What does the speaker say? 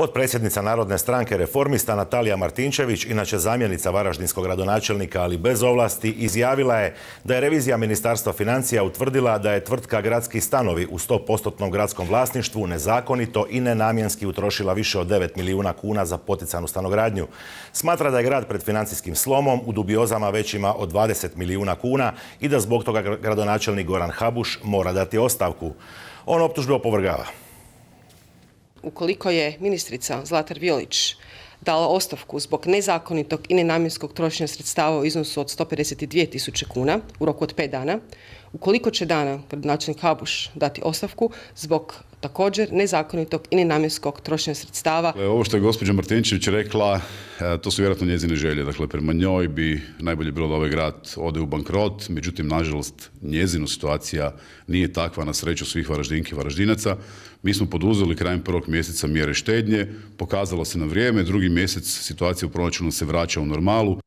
Potpredsjednica Narodne stranke Reformista Natalija Martinčević, inače zamjenica varaždinskog gradonačelnika, ali bez ovlasti, izjavila je da je revizija Ministarstva financija utvrdila da je tvrtka Gradski stanovi u 100% gradskom vlasništvu nezakonito i nenamjenski utrošila više od 9 milijuna kuna za poticanu stanogradnju. Smatra da je grad pred financijskim slomom u dubiozama većima od 20 milijuna kuna i da zbog toga gradonačelnik Goran Habuš mora dati ostavku. On optužbe opovrgava. Ukoliko je ministrica Zlatar Violić dala ostavku zbog nezakonitog i nenamjenskog trošenja sredstava u iznosu od 152.000 kuna u roku od 5 dana, ukoliko će dana gradonačelnik Habuš dati ostavku zbog također nezakonitog i nenamjenskog trošenja sredstava. Ovo što je gospođa Martinčević rekla, to su vjerojatno njezine želje. Dakle, prema njoj bi najbolje bilo da ovaj grad ode u bankrot, međutim, nažalost, njezina situacija nije takva, na sreću svih Varaždinki i Varaždinaca. Mi smo poduzeli krajem 1. mjeseca mjere štednje, pokazalo se na vrijeme, 2. mjesec situacija u proračunu se vraća u normalu.